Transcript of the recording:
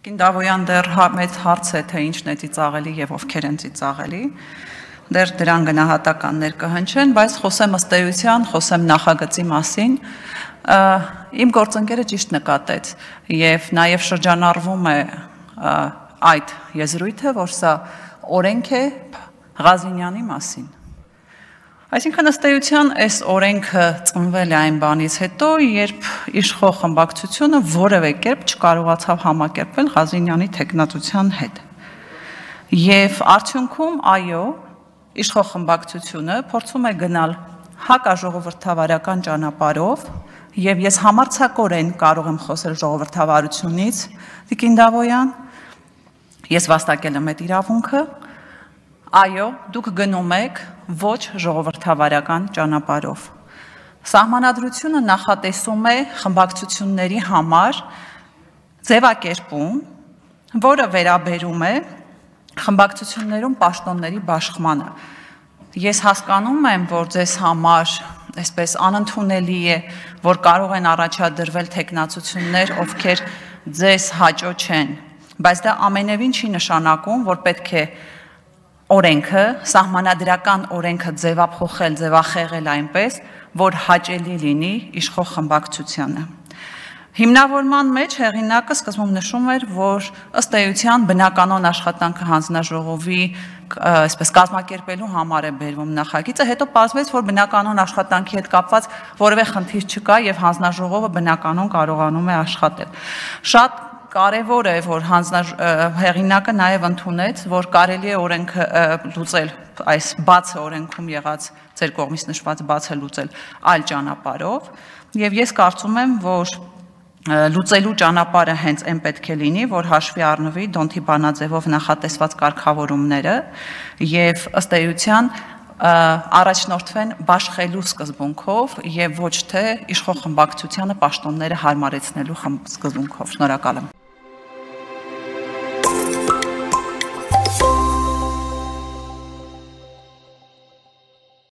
Կինդավոյան դեռ մեծ հարց է, թե ինչն է ծիծաղելի եւ ովքեր են ծիծաղելի, դեռ դրան գնահատականներ կհնչեն, բայց խոսեմ ըստ էության, խոսեմ նախագծի մասին, իմ գործընկերը ճիշտ նկատեց եւ նաեւ շրջանառվում է այդ եզրույթը, որ սա օրենք է Ղազինյանի մասին։ Այսինքն ըստ էության այս օրենքը ծնվել է այն բանից հետո, երբ իշխող խմբակցությունը որևէ կերպ չկարողացավ համակերպվել Ղազինյանի թեկնածության հետ։ Եվ արդյունքում, այո, իշխող խմբակցությունը փորձում է գնալ հակաժողովրդավարական ճանապարհով, եւ ես համարձակորեն կարող եմ խոսել ժողովրդավարությունից, Տիկին Դավոյան, ես վաստակել եմ այդ իրավունքը, այո, դուք գնում եք ոչ ժողովրդավարական ճանապարհով։ Սահմանադրությունը նախատեսում է խմբակցությունների համար ձևակերպում, որը վերաբերում է խմբակցություններում պաշտոնների բաշխմանը։ Ես հասկանում եմ, որ ձեզ համար այսպես անընդունելի է, որ կարող են առաջադրվել թեկնածություններ, ովքեր ձեզ հաճո չեն, բայց դա ամենևին չի նշանակում, որ պետք է օրենքը, սահմանադրական օրենքը ձևափոխել, ձևախեղել այնպես, որ հաճելի լինի իշխող խմբակցությանը։ Հիմնավորման մեջ հեղինակը սկզբում նշում էր, որ ըստ էության բնականոն աշխատանքը հանձնաժողովի այսպես կազմակերպելու համար է բերվում նախագիծը, հետո պարզվեց, որ բնականոն աշխատանքի հետ կապված որևէ խնդիր չկա եւ հանձնաժողովը բնականոն կարողանում է աշխատել։ Շատ կարևոր է, որ հեղինակը նաև ընդունեց, որ կարելի է օրենքը լուծել, այս բացը օրենքում եղած ձեր կողմից նշված բացը լուծել այլ ճանապարհով, եւ ես կարծում եմ, որ լուծելու ճանապարհը հենց այն պետք է լինի, որ հաշվի առնվի Դոնթի բանաձևով նախատեսված կարգավորումները եւ ըստ էության առաջնորդվեն բաշխելու սկզբունքով եւ ոչ թե իշխող խմբակցությանը պաշտոնները հարմարեցնելու սկզբունքով։ Շնորհակալ եմ։